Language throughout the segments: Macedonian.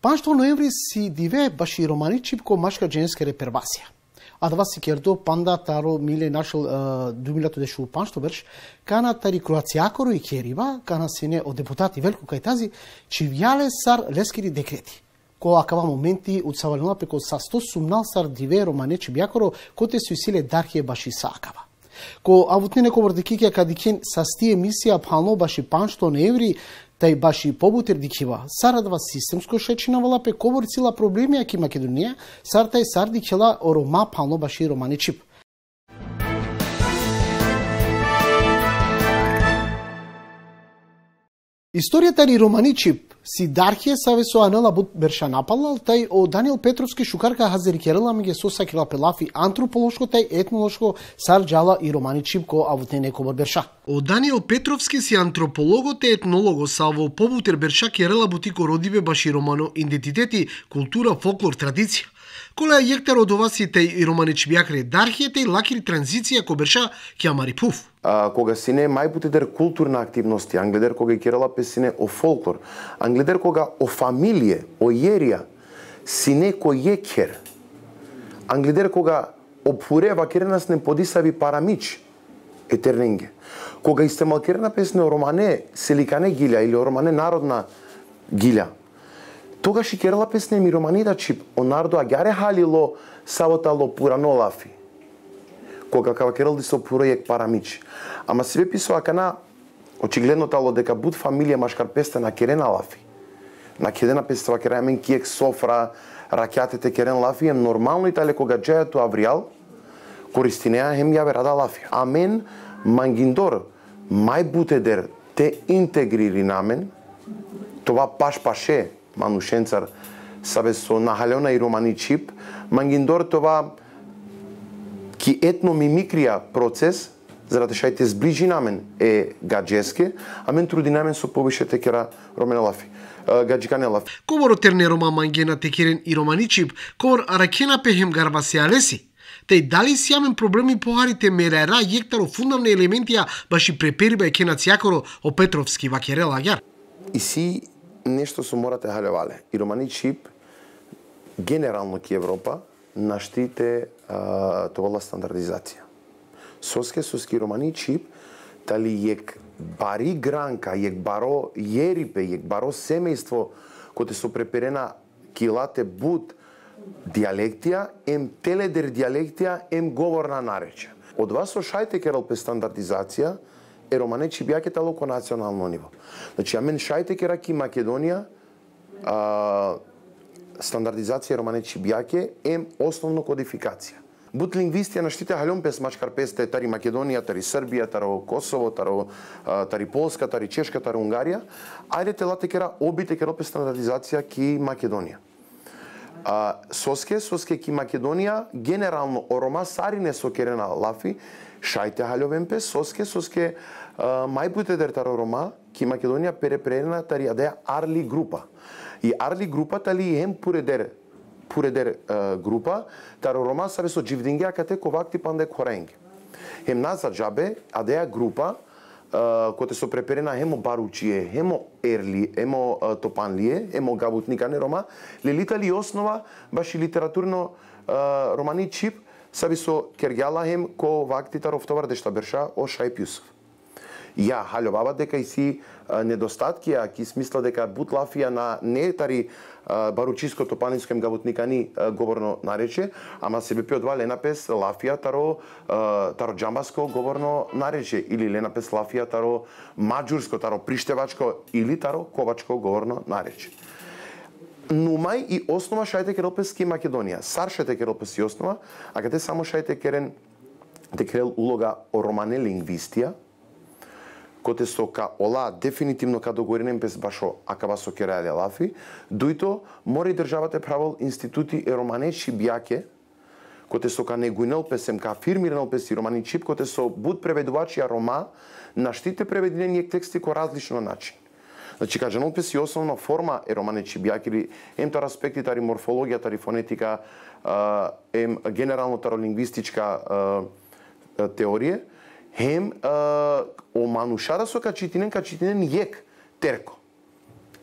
Панштво ноември си диве баши романичип ко машка женска репервасија. А да вас си кердо панда таро миле нашел думилато дешу панштво берш, кана тари кроацијакоро и керива, кана сене од депутати Велко Кајтази, чивјале сар лескери декрети. Ко акава моменти утсавалена преко са 100 сумнал сар диве романечи бјакоро, коте су силе дархие баши саакава. Ко авутнене коврдекикја кадикен са сти емисија пално баши панштво ноември, тај баши побутер дикива, сарадва системско шечинавала пе ковор цила проблеми аки Македонија, сар тај сар дикела орома пално баши романичип. Историјата ри романичип си дархие саве со Анела Бут берша напалал, тај о Даниел Петровски шукарка хазерикерела меѓу сосакила пелафи антрополошко тај етнолошко сар джала и романичип ко авутнене ковор берша. О Даниел Петровски си антропологот и етнолого са во побутер берша керела бутико родиве баши романо идентитети, култура, фолклор, традиција. Колеа јектар од овасите и романичи бјакре дархијата и лакири транзиција ко берша ке амари пуф. Кога сине мајпутедер културна активности, англедер кога и керала песине о фолклор, англедер кога о фамилие, о јерија, сине ко јекер, англедер кога опурева керенас не подисави парамич, етерненге. Кога истемал керена песне о романе селикане гилја или о романе народна гилја, тогаш и керала песне ми романида чип, о народо агјаре халило савотало пуранолафи. Кога кава керал ди со проект парамич. Ама се писува кана очигледно тало дека буд фамилија машкар песте на керена лафи. На керена пестава керена мен киек софра, ракјатете керен лафи, ем нормално и тале кога джајато авриал, користинеа хем јаве рада лафи. А мен мангиндор, мај бутедер те интегрири на мен, това паше, манушенцар, сабе со нахалена и романичип, мангиндор това ки етномимикрија процес, заради шајте сближи на мен е гаджеске, а мен труди на мен со повише текера ромена лафи. Гаджикане лафи. Ковор терне рома мангена текерен и романичип, ковор аракена пехем гарбасиалеси. Тај дали си јамен проблеми похарите мерера јектаро фундамни елементија баши препериба и кенацијакоро о Петровски вакерел агјар. И си нешто со морате халевале. И романичип генерално ки Европа наштите тоа стандардизација. Соски романичип тали јек бари гранка, јек баро јерипе, јек баро семејство коте со преперена килате буд диалектија, ем теледер диалектија, ем говорна наречја. Од вас со шајте керал пе стандардизација е романичип јаке тало ко национално ниво. Значи, амен шајте кера ки Македонија стандардизација романичи бјаке ем основно кодификација. Буд лингвистија на штите халјон пес мачкар песте тари Македонија, тари Србија, таро Косово, тари Полска, тари Чешка, тари Унгарија, ајде телате кера обите кера пес стандардизација ки Македонија. Соске ки Македонија генерално орома сарине со керена лафи, шајте халјовен пес, соске мајпутедер таро рома ки Македонија перепрена тари адеја арли група. И арли група тали ем пуредер група, таро рома саве со дживдингија кате ковакти панде коренги. Хем наза джабе, адеја група, коте со преперена хемо баручие, хемо ерли, хемо топанлие, хемо гавутникане рома, лелитали основа баши литературно романичип, саби со кергјала хем ко вакти таров товар дешта берша о Шајп Јусуф. Ја халјовава дека и си недостатки, а ки смисла дека бут лафија на не тари баручиско топанинско гавутникани говорно нарече, ама се бе од ленапес лафија таро џамбаско говорно нарече или ленапес лафија таро маđурско, таро приштевачко или таро ковачко говорно нарече. Нумај и основа шајте керелпески Македонија. Сар шајте керелпески основа, а каде само шајте керен текрел улога о романе лингвистија, коте со ка ола дефинитивно ка договоренен без башо акава со керале лафи, дуито мора и државата правил институти романечи бјаке, коте со ка негујнел песем, ка фирмирнел песи романичип, коте со буд преведувачија рома, наштите преведени тексти ко различно начин. Значи, кажанол песи основна форма е романечи бјаке, или ем тар аспекти, тари морфологија, тари фонетика, ем генерално таро лингвистичка теорија, хем о манушара со качитинен јек терко.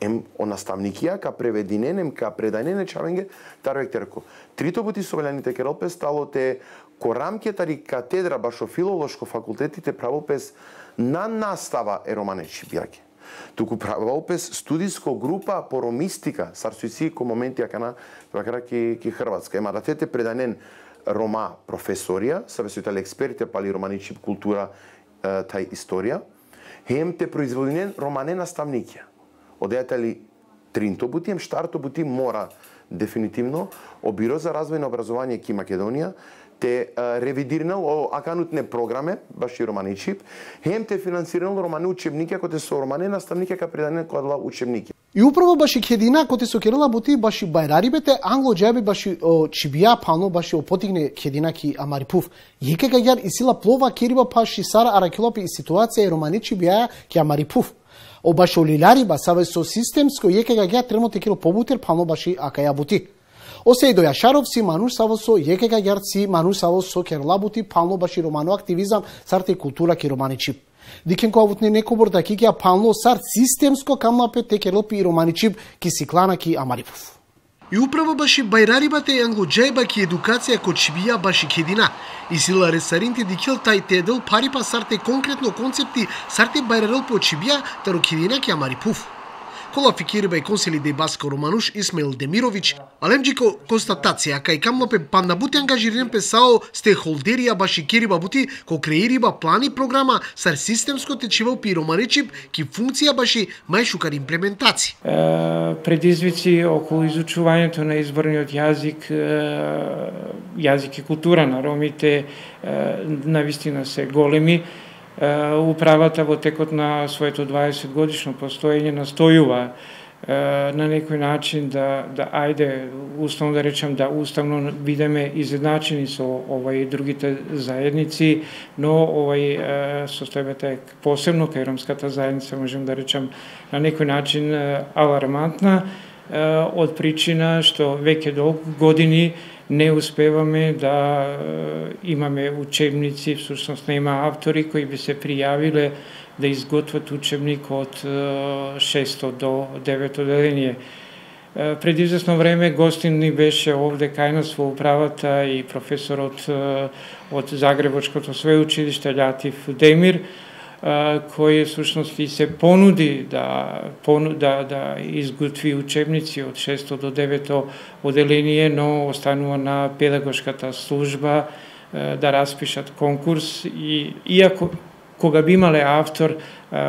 ем о наставникија, ка превединенем, ка предајнене чавенге, тарвектерко. Трито пути совелените керолпес стало те корамке тари катедра башо филолошко факултетите правопес на настава романечи бјаке. Туку правопес студиско група по ромистика, сарсуици ко моменти акана ки Хрватска. Ема да тете предајнен рома професорија, савесуитали експерите пали романичи култура тај историја, хем те производинен романе наставникија. Одејатели тринто бути, штарто бути мора дефинитивно Бюро за развој на образование ки Македонија те ревидирнал аканутне програме, баш и романичип, хем те финансирал романе учебники, ако те со романе наставники, ка предане кодла учебники. И управо баши кедина, коте со керела бути баши байрарибете, англо джаби баши чибија пано баши опотигне кедина ки амарипув. Јеке гагјар и сила плова кериба паши сара аракилопи и ситуација и романичи бија ки амарипув. Обашо лилариба саве со системско јеке гагјар тремоте керо побутер пано баши акаја бути. Осе и до Јашаров си мануш саво со јеке гагјар си мануш саво со керла бути пално баши романо активизам сарте култура ки романичип. Дикен коавутне некобор да кикија пално сарт системско камлапе те керелпи и романичип ки сиклана ки амарипов. И управо баши байрарибате и англоджајба ки едукација ко чибија баши кедина. И сила ресаринти дикил тај тедел парипа сарте конкретно концепти сарте байрарел по чибија таро кедина ки амарипов. Кола фикириба и консилиде баско романуш Исмаил Демирович, алемџико констатација кај камлопе панда бути ангажирен песао стейкхолдерија баши кириба бути ко креириба плани програма сар системско течивал пи романичип ки функција баши мајшукар имплементација. Предизвици околу изучувањето на изборниот јазик, јазик и култура на ромите навистина се големи. Управата во текот на своето 20 годишно постоење настојува на некој начин да ајде, уставно да речем, да уставно бидеме изедначени со овај другите заедници, но овај состојбата е посебно кај ромската заедница, можем да речем, на некој начин алармантна, од причина што веќе долго години не успеваме да имаме учебници, всушност нема автори кои би се пријавиле да изготват учебник од 6 до 9 одделение. Пред известно време гостин ни беше овде кај нас во управата и професорот од Загребочкото свеучилиште Љатив Демир, кој всушност и се понуди да изготви учебници од 6 до 9 одделение, но останува на педагошката служба да распишат конкурс и иако кога би имале автор,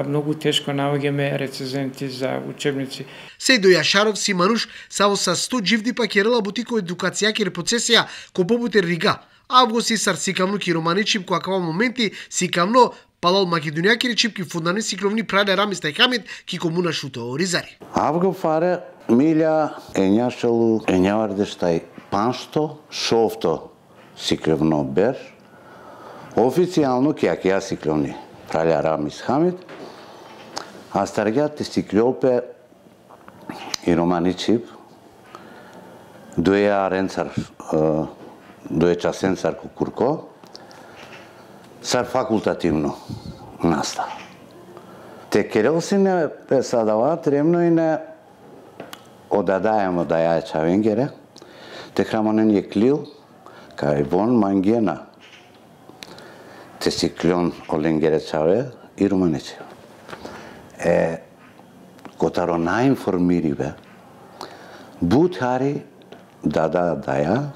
многу тешко наоѓаме рецензенти за учебници. Сејдо Јашаров си мануш саво са 100 дживди пакерела бутико едукација ки репоцесија ко побутер Рига. Август и сар сикамно ки романичип која кава моменти сикамно палал македонијаки речипки фундани сикровни праде рамис тајкамет ки комуна шуто ризари. Авго фаре милја ењашалу ењавардештай паншто шовто сикревно бер официјално кјакија сикровни праля рамис хамет а старгјате сикрёлпе и романичип дуја ренцар дуја часенцар кукурко сар факултативно настава. Те керелсине песадава тремно и не одадаемо да ја чавенгере, те храмонен е клил, кај вон мангена, те си клион оленгере чаве и романече. Котаро наинформириве, бутари даја,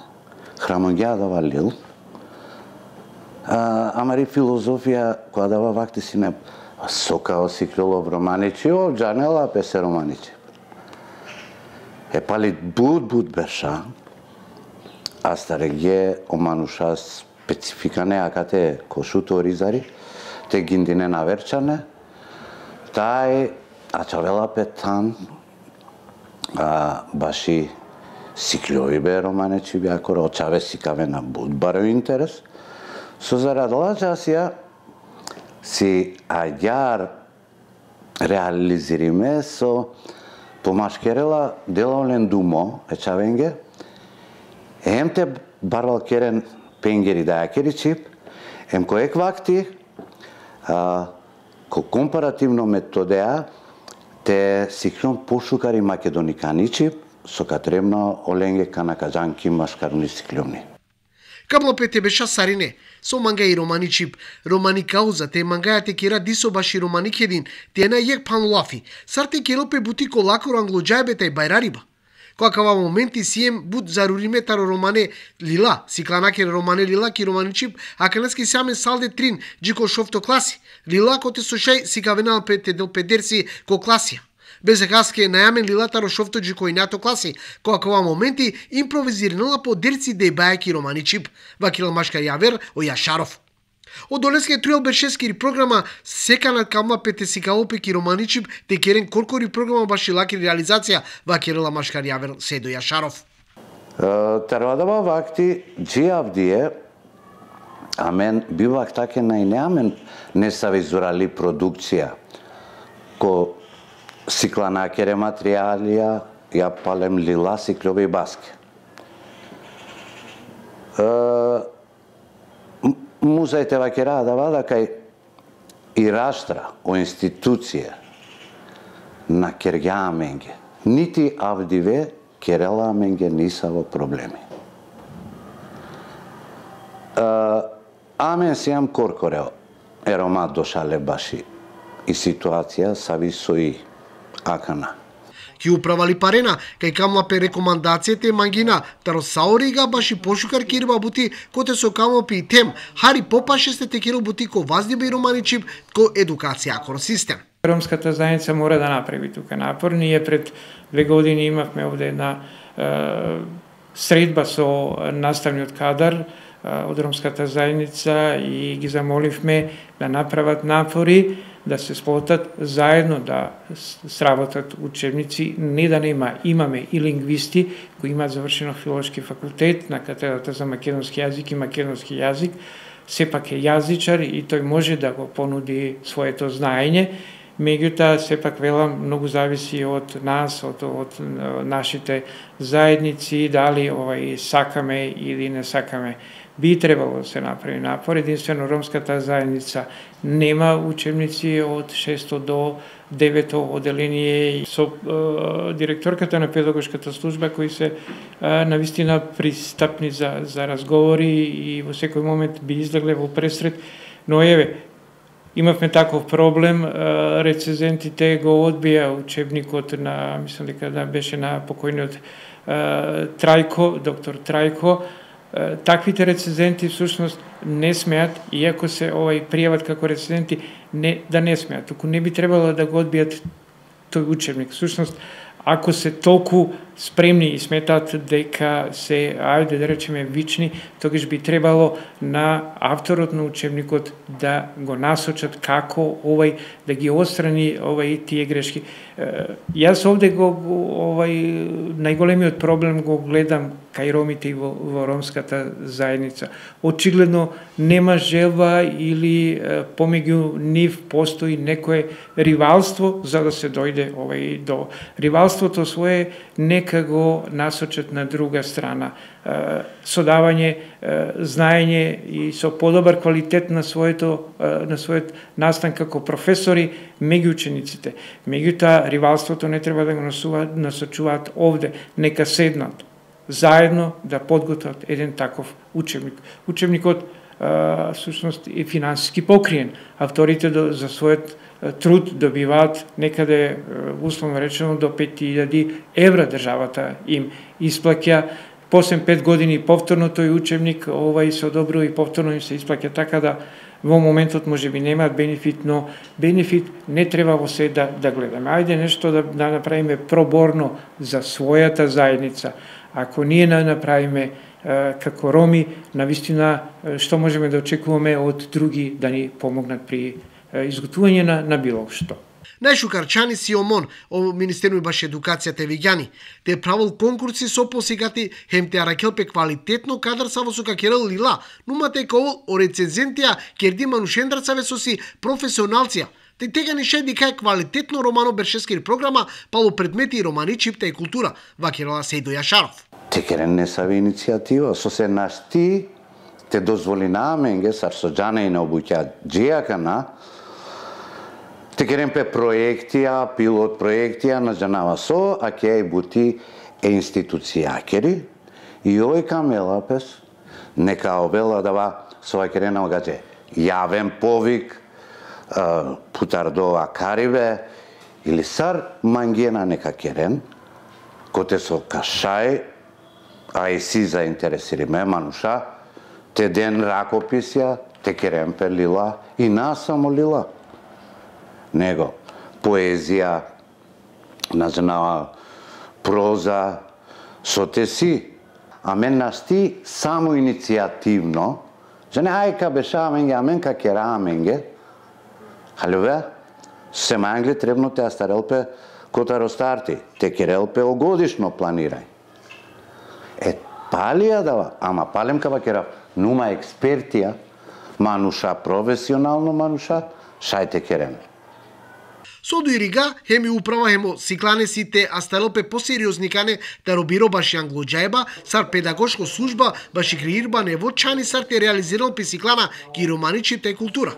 храмонгја дава лил, амари филозофија која дава вакти си не сокао си клилов романичи, джанела песе романичи. Пали буд берша, а стареге омануша специфика неакате кошуто ризари, те гиндине наверчане, тај ачавела петан, баши сиклјови бе романичи бјакоро, очаве сикаве на буд баро интерес, со зарадала часија си аѓар реализириме со помашкерела делолен думо ечавенге, ем те барвал керен пенгери дајакери чип, ем коек вакти ко компаративно методеа те сикнон пошукари македониканичи со катребна оленге канакаджанки машкарни сиклюмни. Каблопе те беша сарине, со манга и романи чип, романи кауза, те мангаја те кера дисо баши романи хедин, те на јек панлуафи, сар те келопе бутико лакоро англоджајбе тај байрариба. Која кава моменти сием буд заруриме таро романе лила, сикланаке романе лила ки романи чип, а канески саме салде трин, джико шофто класи, лила коте сушај сикавенал пете дел педерси ко класија. Без хаске најамен лилатаро шофто джико и нато класи, која кова моменти импровизирнала по дерци дејбајаки романи чип, вакила машка јавер о Јашаров. Од долеске труел бешескири програма секана камла пете сикалопеки романи чип, те керен коркори програма баши лаки реализација, вакирала машка јавер Седо Јашаров. Тервадава вакти джиавдие, амен бивак таке најнеамен не савизурали продукција, ко сикланакере материјалија, ја палем лила, сиклове и баске. Музеите вакера да вада кај и раштра о институција на Кергја Аменге. Нити авдиве Керела Аменге ниса во проблеми. Амен сијам коркорео ерома дошале баши и ситуација сави сои акана. Ки управали парена, кај камлапе рекомандацијите мангина, таро саорига баши пошукар кирба бути, коте со камлапи и тем, хари попаше сте текиро бути ко ваздиба и романи чип, ко едукација акор систем. Ромската заедница мора да направи тука напор. Ние пред 2 години имавме овде една средба со наставниот кадар од ромската заедница и ги замоливме да направат напори, да се сплотат заедно, да сработат учебници, не да нема. Имаме и лингвисти кои имаат завршено филолошки факултет на катедрата за македонски јазик и македонски јазик, сепак е јазичар и тој може да го понуди своето знаење. Меѓутоа, сепак велам, многу зависи од нас, од нашите заедници, дали сакаме или не сакаме. Би требало да се направи напор. Единствено ромската заедница нема учебници од 6 до 9 оделение. Со директорката на педагошката служба кои се навистина пристапни за разговори и во секој момент би излегле во пресред. Но еве, имавме таков проблем, рецензентите го одбија учебникот на, мислам дека да беше на покојниот Трајко, доктор Трајко. Таквите рецензенти всушност не смеат, иако се пријават како рецензенти, да не смеат, туку не би требало да го одбијат тој учебник. Всушност, ако се толку спремни и сметаат дека се, ајде да речеме, вични, тогаш би требало на авторот на учебникот да го насочат како да ги отстрани тие грешки. Јас овде најголемиот проблем го гледам кај ромите и во ромската заедница. Очигледно нема желба или помеѓу нив постои некое ривалство за да се дојде до ривалството свое нека го насочат на друга страна. Со давање знаење и со подобар квалитет на својот настан како професори меѓу учениците. Меѓутоа, ривалството не треба да го насочуваат овде, нека седнат заедно да подготват еден таков учебник. Учебникот всушност е финансиски покриен. Авторите за својот труд добиваат некаде, условно речено, до 5000 евра државата им исплаќа. После 5 години повторно тој учебник се одобрува и повторно им се исплаќа, така да во моментот може би немаат бенефит, но бенефит не треба во се да гледаме. Ајде нешто да направиме проборно за својата заедница. Ако ние не направиме како роми, навистина што можеме да очекуваме од други да ни помогнат при изготвување на било што. Најшукарчани си ОМОН, о Министерство баш едукацијата веѓани, те правил конкурси со посигати хем те аракелпе квалитетно кадар са во сука Керел Лила, нумате као о рецензентија Керди Манушендрацаве со си професионалција. Те тега ни шеди кај квалитетно романо бершескири програма, пало предмети и романи чипта и култура, вакирала Седо Јашаров. Текерен не сави иницијатива, со се нашти те дозволи на Аменге, сар со джане и на обуќа джијакана, Текеренпе проектија, пилот проектија на Джанава со, а ке бути институцијакери и овој камелапес нека обела дава со керена огаче јавен повик путардова кариве или сар мангена нека керен коте со кашај а и си заинтересири ме мануша те ден ракописја те керенпе лила и нас само лила него поезија назнава проза со те си а мен насти само иницијативно Жане ајка бешаменге, амен ка кераменге. Халюве, се мангли требно те астарелпе кота ростарти. Те керелпе огодишно планирај. Палија дава, ама палем ка бакера нума експертија, мануша професионално мануша, шајте кереме. Содо и рига, хеми управа хемо сикланесите, а сталопе посериозникане да робиро баши англоджајба, сар педагошко служба, баши креирба невочани сар те реализирал песиклана ки романичите култура.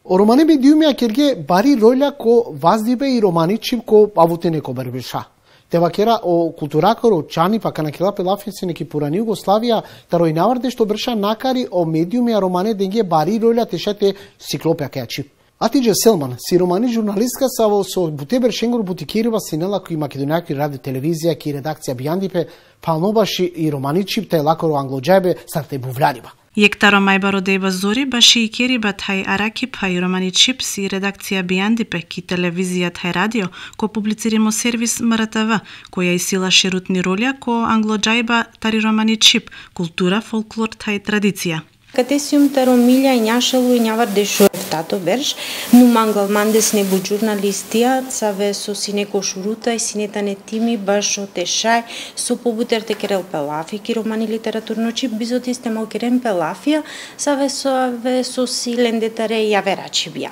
O romane mediumia kerge bari rolja ko vazdibe I romaničim ko avutene ko berbeša. Te vakera o kulturakoro čani pa kanakela pelafense neki purani Jugoslavija taro I navarde što brša nakari o mediumia romane denge bari rolja tešate siklopja keači. Атиџа Селман, си романи журналистка саво со бутебер шенгор бутикирива синела кои македонијаки ради телевизија ки редакција бијандипе, палнобаши И романичип тај лакоро англоџајбе сарте бувлјариба. Јектаро мајбаро дејба зори баши И кериба тај аракип хај романичип си редакција бијандипе ки телевизија тај радио ко публициримо сервис МРТВ, која исила шерутни ролја ко англоџајба тари романичип, култура, фолклор тај традиција. Катесиум таро милја и њашалу и њавар дешо тато берш, ну мангал мандес не бу журналистија, цаве со сине кошурута и синета не тими баш отешај, со побутер те керел пелафи, ки романи литературно чип, бизот исте мал керен пелафија, цаве со силен детаре и јаверачи бија.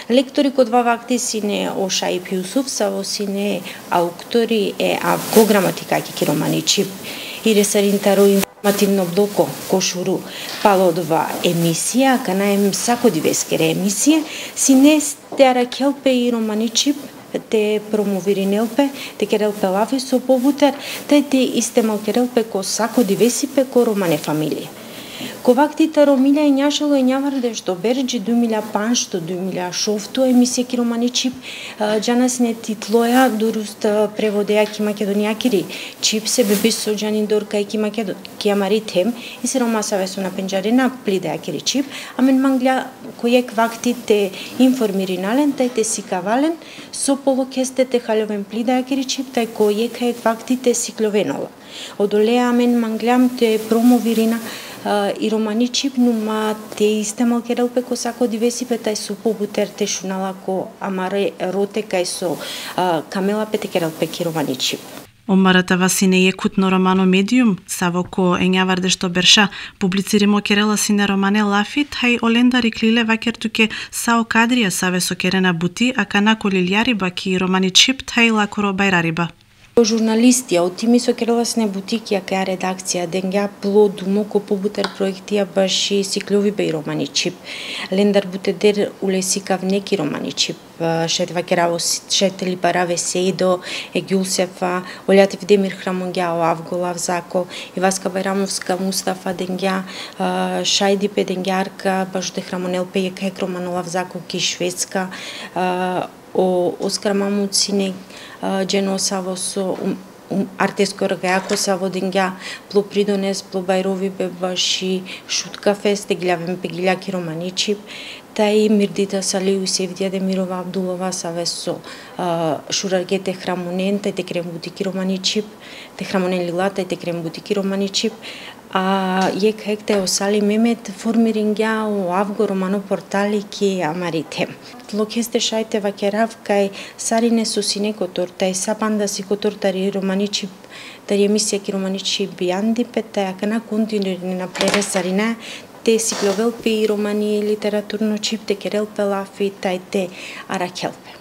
Лектори код вакти сине Ошај Пјусуф, саво сине ауктори авко граматика ки романи чип, и ресарин таро информативно блоко кошуру палодова емисија, канаем сакодивескере емисија, сине те аракелпе И романичип, те промовиринелпе, те керелпе лафи со побутер, те исте малкерелпе ко сакодивесипе ко романе фамилија. Ковактите ромилја и њашало и њаварде што берџи 2005-2006 емисија ки романичип џанас не титлоја дуруст преводеја ки македонијакири чип се беби со џанин дорка и ки амаритем и се ромасаве со на пенџарена плидејакири чип, амен манглја којек вактите информиринален, тај те сикавален, со полокесте те халјовен плидејакири чип, тај којек вактите сикловенола. Одолеа амен манглјам те промовирина И романичип нума те исте малкерелпе ко сако дивесипе тај со побутер те шунала ко амаре роте кај со камела пете керелпе ки романичип. Омарата сине јекутно романо медиум, саво ко ењаварде што берша, публициримо керела сине романе лафи, тај олендари клиле вакертуке сао кадрија саве со керена бути, а канако лилјариба ки романичип тај лакоро бајрариба. Журналисти, од тими со кереласне бутики, каја редакција, денгја плодумо ко побутер проектија баши сиклови беј романичип. Лендар бутедер улесикав неки романичип. Шетва кераво шетели бараве Сейдо, Егюлсефа, Олјатив Демир Храмонгјао, Авголав Зако, Иваска Байрамовска, Мустафа денгја, Шајдипе денгјарка, баш де Храмонелпе Јекајк Романолав Зако ки Шведска, Оскар Мамуцине Дженосаво со артеско ргајако саво денгја плопридонес плобајрови бебаши шутка фест главен пегиљаки романичип тај Мирдита Салиу и Севдија Демирова Абдулова саве со шураргете храмонен тај те крем бутики романичип те храмонен лилата и те крем бутики романичип а јек хекте осали мемет формирингја о авго романо портали ки амарите. Локесте шајте вакерав кај сарине со сине котор, тај сапанда си котор тари романичип, тари емисија ки романичип бијандипе, тај акана континуирани на плере сарина, те сикловелпи и романи литературно чип, те керелпе лафи, тај те аракелпе.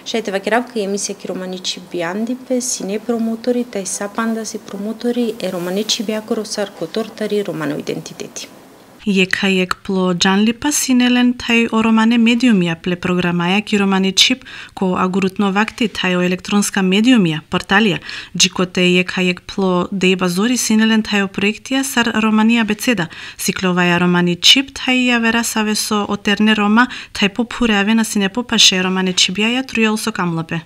Шајте вакеравка и емисија ки романичип бијандипе, сине промотори, тај сапанда си промотори, романичип јакоро сар котор тари романо идентитети. Јекајек пло Джанлипа синелен тај о романе медиумија пле програмаја ки романи чип ко агурутно вакти тај о електронска медиумија порталија джикоте јекајек пло Дејба Зори синелен тај о проектија сар романија бецеда сикловаја романи чип тај ја вера савесо отерне рома тај попуреве на сине попаше романи чибјаја трујал со камлапе.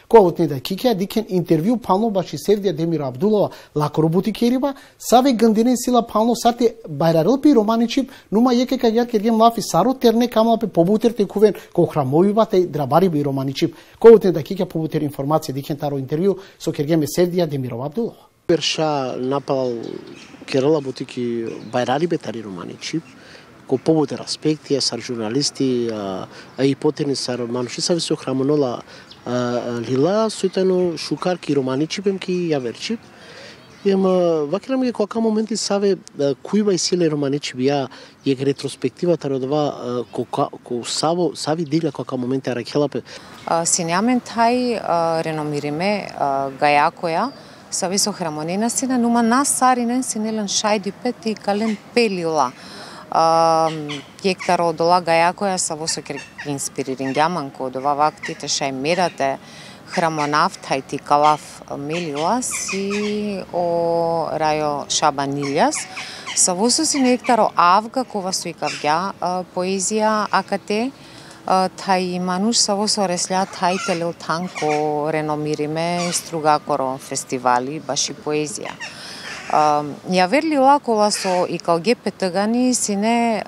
Којот да кикеа дикен интервју пално баши Севдија Демира Абдулова лако роботи кериба, саве гандинен сила пално сати байрарылпи романичип, нума јеке каѓар кергем лафи саро терне камлапе побутер текувен ко храмовива тај драбари би романичип. Којот да кикеа побутер информација дикен таро интервју со кергем Севдија Демира Абдулова. Берша напал керала бутики байрари бетари романичип, ко побутер аспекти, сар журналисти, а и потени сар мануши саве со храмонола лила сојтано шукарки романичипем ки јаверчип. Ема вакирам ги која моменти саве кујба и силе романичип ја јег ретроспективата родова ко сави дилја која моменти аракелапе. Синјамен тај реномириме гајакоја сави со храмонена сина нума нас саринен синелен шајдипет и кален пелила. Јектаро дола гајакоја са во сокер инспириринѓаман ко дова вактите шај мерате храмонав тај ти калав мелилас и о рајо шабанилјас са во соси нектаро авга кова суикавѓа поезија акате тај мануш са во со ресља тај телел танко реномириме стругакоро фестивали баши поезија. Ја верли лакола со и кал гепе тъгани сине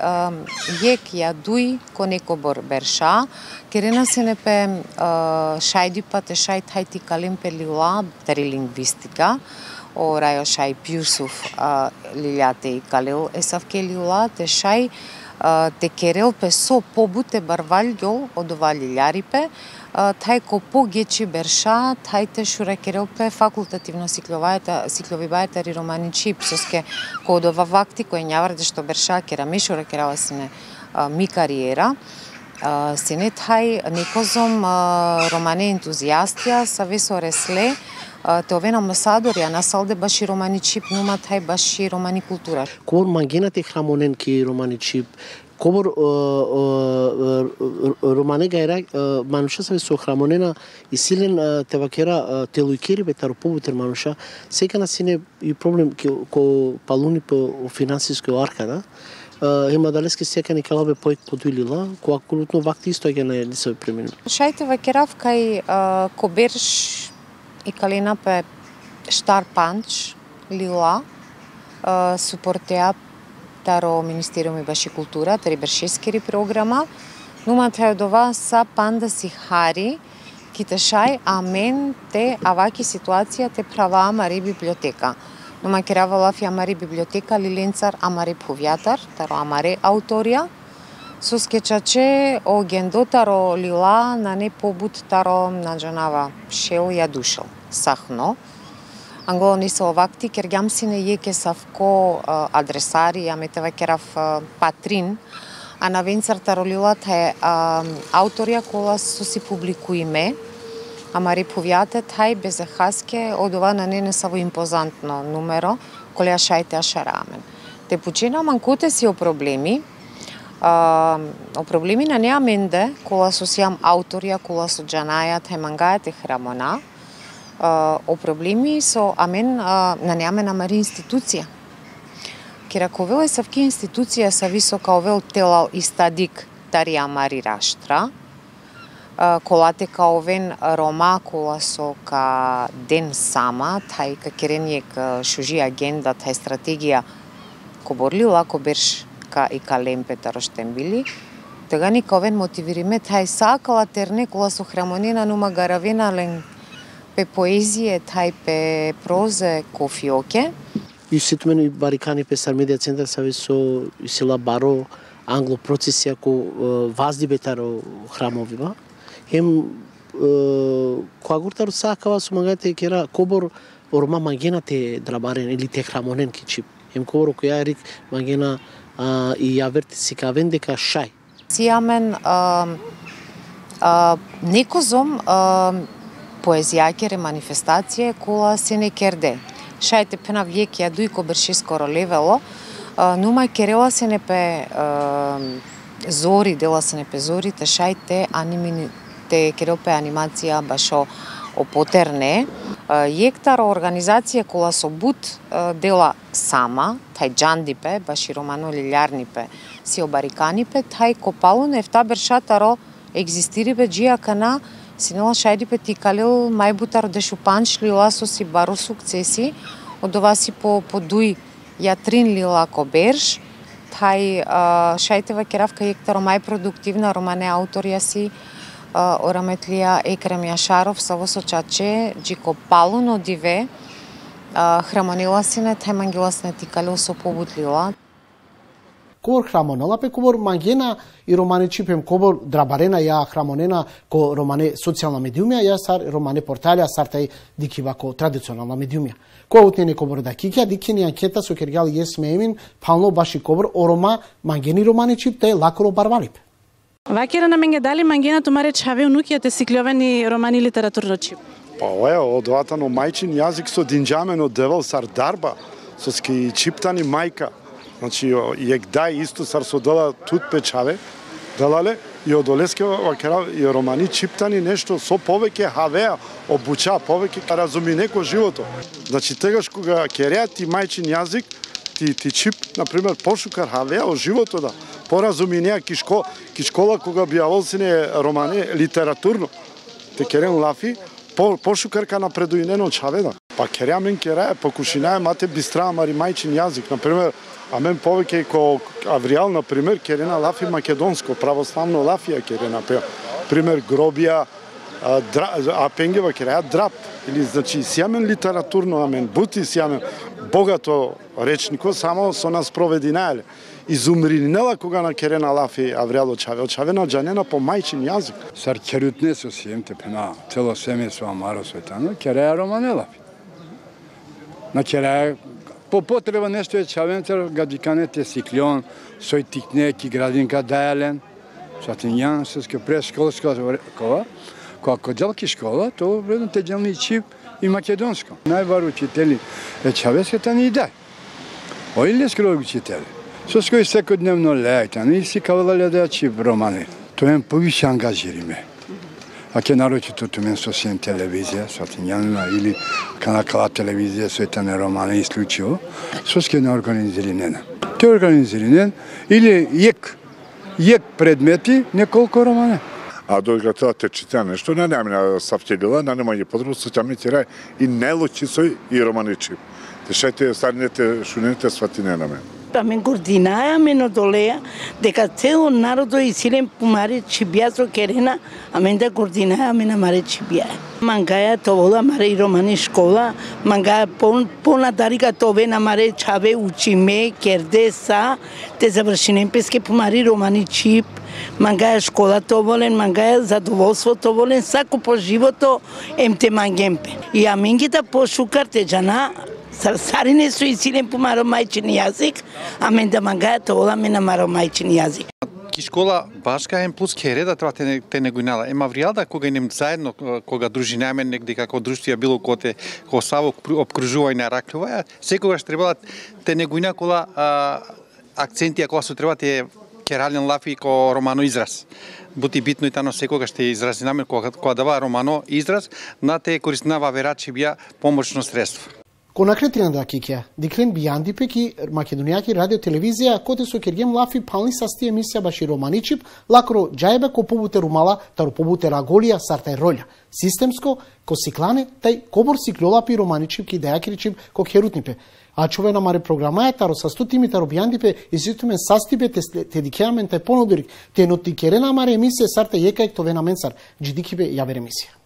јек ја дуј ко неко бор берша, керена сине пе шајди пате шај тај ти калим пе лила тари лингвистика, о рајо шај пјусуф лилјате и калил есавке лила те шај те керел пе со побуте барвалјгол од ова лилјарипе, тај ко погечи берша, тај те шура керелпе факултативно сикловибајата ри романичип, соске ко од ова вакти кој њаварде што берша кера мишура керала сине ми кариера, сине тај некозом романе ентузијастија са весо ресле, те овен амбасадори, а насалде баши романичип, нума тај баши романи култура. Кор мангенате храмонен ки романичип, кобор романе гајра мануша саве со храмонена и силен тевакера телуикери бетаро побутер мануша, сека на сине и проблем ко палуни по финансиско аркада, ема далески сека ни калабе поек подуилила, која кулутно вакти исто ќе не се премину. Шајте вакерав кај ко берш и калина пе штар панч лила супортеа таро Министериуми баши култура, тари бершескери програма, нума тај одова са панда си хари, ките шај, амен те аваки ситуација те права амари библиотека. Нума керава лафи амари библиотека, лиленцар амари повјатар, таро амаре ауторија, со скечаче о гендо таро лила на не побут таро наджанава шел ја душел, сахно. Анголо не се овакти, кергјам сине јеке савко адресари, ја метева керав патрин, а на венцар таролилата е ауторија кола со си публикуиме, ама реповјате тај безехаске од ова на не саво импозантно numero, коли шајте ашарамен. Те почина манкоте си о проблеми на неа менде, кола со сиам ауторија, кола со джанаја, тај мангајате храмона, о проблеми со амен на неамен амари институција. Кераковел е савки институција са висока овел телал и стадик тари амари раштра, колате ка овен рома кола со ка ден сама, тај ка керенијек шужи агенда, тај стратегија ко борли лако берш ка и ка лемпе тароштен били, тега ни ка овен мотивириме тај сакала терне кола со храмонена нума гаравена лен пе поезије, тај пе прозе кофиоке. И сето мене барикани пе Стар медија центар сави со сила баро англо процесија ко вазди бетаро храмовива. Хем која гуртаро сакава со мангајте кера кобор орома мангена те драбарен или те храмонен кичип. Хем кобор која рик мангена и ја верти си ка вендека шај. Сијамен некозом поезијакере манифестација кола се не керде. Шајте пена вјек ја дуј ко берше скоро левело, нума керела се непе зори, дела се непе зори, те шајте анимини, те керелпе анимација башо опотерне. Јектар организација кола со бут дела сама, тај джандипе, баши романо лилјарнипе, си обариканипе, тај копало нефта бершатаро екзистирипе джијакана, синела шајдипе ти калил мајбутар дешу панч лила со си бару сукцеси, од ова си по дуј јатрин лила коберш, тај шајтева керавка јектаро мајпродуктивна романе ауторија си ораметлија Екрем Јашаров са во сочаче джико палуно диве храмонила сине тај мангиласне ти калил со побутлила. Кобор храмонела пе кобор мангена и романе чипем кобор драбарена ја храмонена ко романе социјална медиумија ја сар романе порталја сар тај дикива ко традиционална медиумија. Кој утнене кобор да кикја дикени анкета со кергал јес меемин пално баши кобор орома мангени романе чип тај лакоро барвалип. Вакера на менге дали мангена тумаре чаве унукијате сиклјовени романи литературно чип? Па од ватано мајчин јазик со динџамено девал сар дарба со ски чиптани мајка. Значи, јегдај исто сар со дела тут печаве, делале, и од Олеске вакера и романи чиптани нешто со повеќе хавеа, обуча, повеќе разуми неко живото. Значи, тегаш кога кереа ти мајчин јазик, ти чип, например, пошукар хавеа о живото да, поразуми неа ки школа кога бијавол сине романи литературно. Те керен лафи, пошукарка напредуинено чаведа. Па кереа мен кереа, покушинае мате бистра мари мајчин јазик, например, а мен повеќе ко Авријал, например, керена лафи македонско, православно лафија керена, пример гробија, а пенгева кереа драп, или значи сјамен литературно, амен бути сјамен, богато речнико, само со нас провединаеле. Изумринела кога на керена лафи Авријал очавена джанена по мајчин јазик. Сар керутне со сиемте пена, цело семе со амаро светано, кереа романе лафи. На кереа по потреба нешто е чавентер гадиканете сиклјон, сој тикне ки градинка дајален, сатинјан, сеске пресколска кова, кога делки школа, то вредно те делни чип и македонско. Најбар учители е чавеската ни дај. Ој ли скрог учители? Со кој секојдневно лејтан и си кавалале да чип романи. Тоа е повише ангажириме. А ке нарочито тумен со сен телевизија, сатинјанина или канакала телевизија со етане романи исклучиво, со ске не организиринена. Те организиринен или јек предмети, неколку романе. А додека тоа те чита нешто, не намина сафтелила, не нема потребно со тјамни тирај и нелочи сој и романи чип. Те шајте старинете шунените сватинена мен. Амен гординаја мен одолеја, дека цело народо и силен помаре чибија со керена, амен да гординаја амен амаре чибија. Мангаја товола маре и романи школа, мангаја понадарика тове намаре чаве учиме, керде са, те завршинен песке помари романи чип, мангаја школа товолен, мангаја задоволство товолен, сако по живото емте мангемпе. И аменгите пошукар те джана, сарине со и силен помаро мајчин јазик, а мен да мангајато ола ме намаро мајчин јазик. Ки школа башка ем плюс кереда тоа те негуинала. Ема вријалда кога инем заедно, кога дружинаме негде како друштвија било коте, ко Саво обкружувај на Раклова, секогаш требала те негуина кола акцентија кола се треба те керален лафи ко романо израз. Бути битно и тано секогаш те изразинаме кога дава романо израз, на те користинава верачи бија помошно средство. Конакретина да кикја, диклен бијанди пеки македонијаки радио телевизија, коте со кергем лафи пални састи емисија баши романичип, лакро џајбе ко побуте румала, таро побуте раголија, сартај роља. Системско, ко сиклане, тај кобор сиклолапи романичип ки дајакиричип ко херутнипе. А човена маре програмаја, таро састутими, таро бијандипе, изитумен састипе, те дикеамен, тај понодорик, те ноти керена маре емисија, сарта јекајк товена менсар, джидикипе јавер емисија.